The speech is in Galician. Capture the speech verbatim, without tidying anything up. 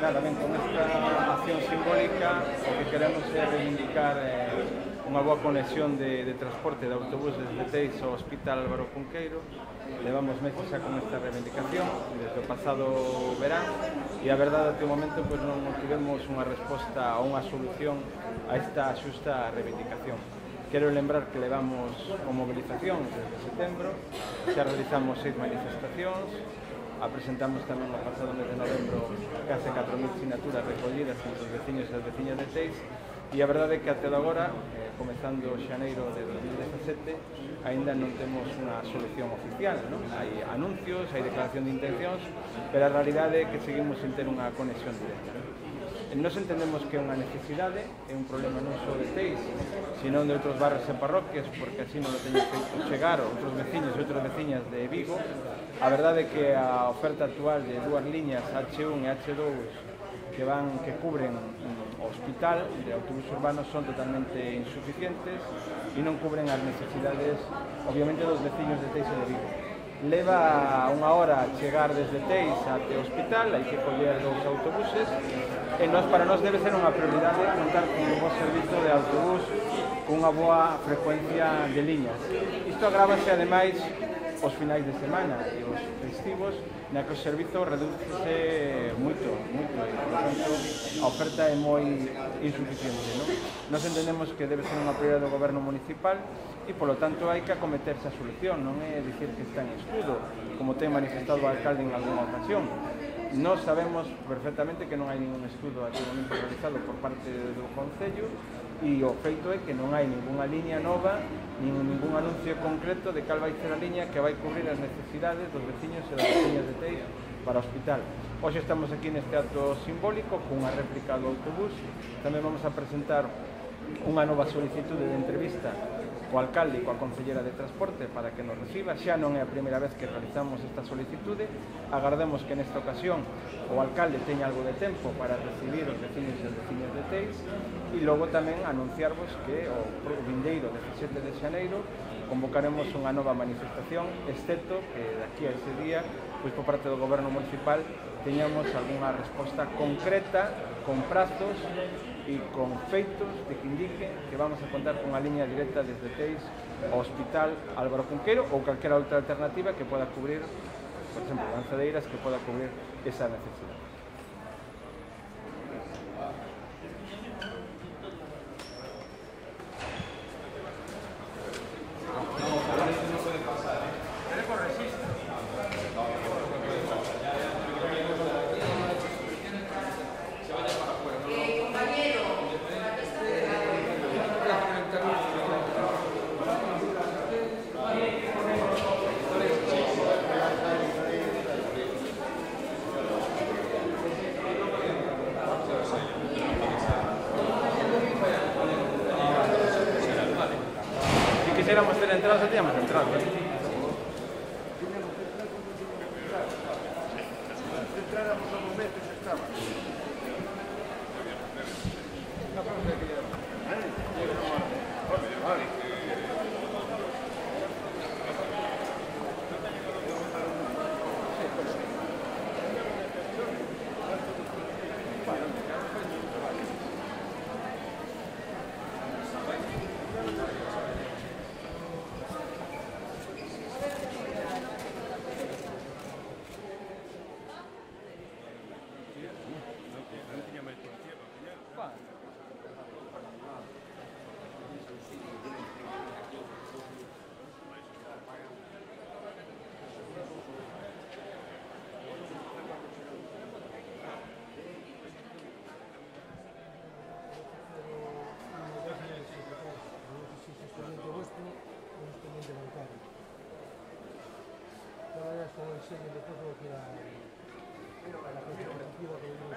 Nada, ben, con esta acción simbólica o que queremos é reivindicar eh, unha boa conexión de, de transporte de autobús desde Teis ao Hospital Álvaro Cunqueiro. Levamos meses xa con esta reivindicación desde o pasado verán e a verdade até o momento pois, non tivemos unha resposta ou unha solución a esta xusta reivindicación. Quero lembrar que levamos con movilización desde setembro, xa realizamos seis manifestacións, apresentamos tamén o pasado mes de novembro case catro mil sinaturas recollidas entre os veciños e as veciñas de Teis e a verdade é que até agora, eh, comezando xaneiro de dos mil dezasete, aínda non temos unha solución oficial, non? Hai anuncios, hai declaración de intencións, pero a realidade é que seguimos sin ter unha conexión directa. Nos entendemos que é unha necesidade, é un problema non só de Teis, sino de outros barrios e parroquias, porque así non lo teñen feito chegar outros veciños e outras veciñas de Vigo. A verdade é que a oferta actual de dúas liñas H un e H dous que van que cubren o hospital de autobús urbanos son totalmente insuficientes e non cubren as necesidades, obviamente, dos veciños de Teis e de Vigo. Leva unha hora chegar desde Teis até o hospital, hai que coller dous autobuses e nos, para nós debe ser unha prioridade contar con un bo servizo de autobús con unha boa frecuencia de liñas. Isto agrávase ademais os finais de semana e os festivos na que o servizo redúcese moito, moito e, por tanto, a oferta é moi insuficiente, non? Nos entendemos que debe ser unha prioridade do goberno municipal e, polo tanto, hai que acometerse a solución, non é dicir que está en estudo, como ten manifestado o alcalde en algunha ocasión. Nós sabemos perfectamente que non hai ningún estudo até o momento realizado por parte do Concello e o feito é que non hai ninguna liña nova, nin ningún anuncio concreto de cal vai ser a liña que vai cubrir as necesidades dos veciños e das veciñas de Teis para o hospital. Hoxe estamos aquí neste acto simbólico cunha réplica do autobús. Tamén vamos a presentar unha nova solicitude de entrevista co alcalde e coa concellera de transporte para que nos reciba. Xa non é a primeira vez que realizamos esta solicitude. Agardemos que nesta ocasión o alcalde teña algo de tempo para recibir os veciños e as veciñas de Teis e logo tamén anunciarvos que o vindeiro dezasete de xaneiro convocaremos unha nova manifestación, excepto que daqui a ese día, pois por parte do goberno municipal, teñamos algunha resposta concreta, con prazos e con feitos de que indique que vamos a contar con unha liña directa desde Teis ao Hospital Álvaro Cunqueiro ou calquera outra alternativa que poda cubrir, por exemplo, Lanzadeiras, que poda cubrir esa necesidade. Quisiéramos ter entrado, xa teníamos entrado. Entráramos a momentos e estaba. Con el sello de todo que la, la gente colectiva que vive en